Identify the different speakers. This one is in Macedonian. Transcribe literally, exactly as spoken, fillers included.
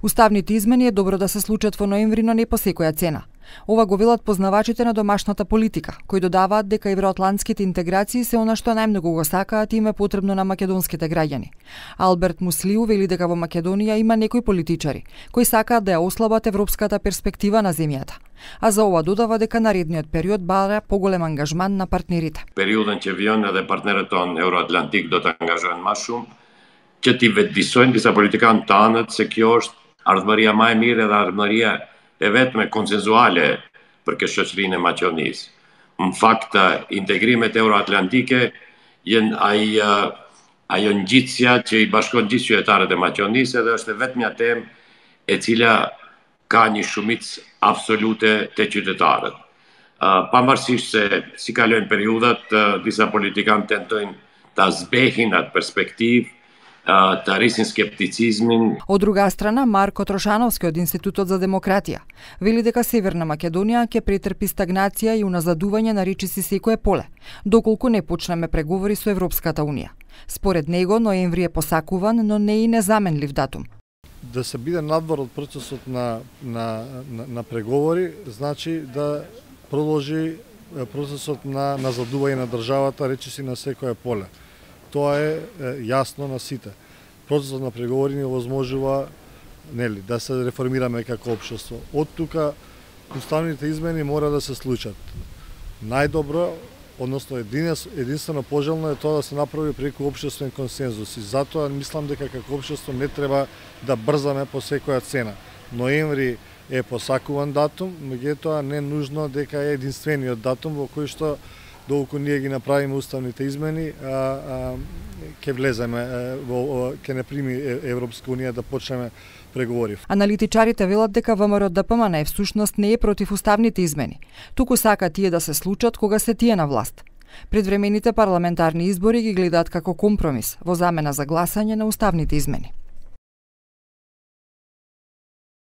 Speaker 1: Уставните измени е добро да се случат во ноември, но не по секоја цена. Ова го велат познавачите на домашната политика, кои додаваат дека евроатлантските интеграции се она што најмногу го сакаат и им е потребно на македонските граѓани. Алберт Муслиу вели дека во Македонија има некои политичари кои сакаат да ја ослабат европската перспектива на земјата. А за ова додава дека наредниот период бара поголем ангажман на партнерите.
Speaker 2: Периоден ќе вион edhe партнерët tonë Euroatlantik do të angazhohen më shumë që t'i vetëdijsojnë disa politikanë të anët se kjo është ardhmëria më e mirë dhe ardhmëria e vetme konsenzuale për këtë shoqërinë e Maqedonisë. Në fakt, integrimet euroatlantike janë ai ajo ngjitsja që i bashkon gjithë qytetarët e Maqedonisë dhe është vetmja temë e cila ka një shumicë absolute të qytetarët. Pavarësisht se si kalojnë periudhat, disa politikanë tentojnë ta zbehin atë perspektivë, të rrisin skepticizmin.
Speaker 1: Од друга страна, Марко Трошановски од Институтот за демократија вели дека Северна Македонија ќе претрпи стагнација и уназадување на речиси секое поле, доколку не почнеме преговори со Европската унија. Според него, ноември е посакуван, но не и незаменлив датум.
Speaker 3: Да се биде надвор од процесот на, на, на, на преговори, значи да продолжи процесот на назадување на државата речиси на секое поле. Тоа е, е јасно на сите. Процесот на преговори ни овозможува нели да се реформираме како општество. Од тука уставните измени мора да се случат. Најдобро, односно единствено пожелно е тоа да се направи преку општествен консензус и затоа мислам дека како општество не треба да брзаме по секоја цена. Ноември е посакуван датум, меѓутоа не нужно дека е единствениот датум во кој што доколку ние ги направиме уставните измени, а, а, ќе влеземе, во, ќе не прими Европска унија да почнеме преговори.
Speaker 1: Аналитичарите велат дека ВМРО Д П М Н всушност не е против уставните измени, туку сака тие да се случат кога се тие на власт. Предвремените парламентарни избори ги гледаат како компромис во замена за гласање на уставните измени.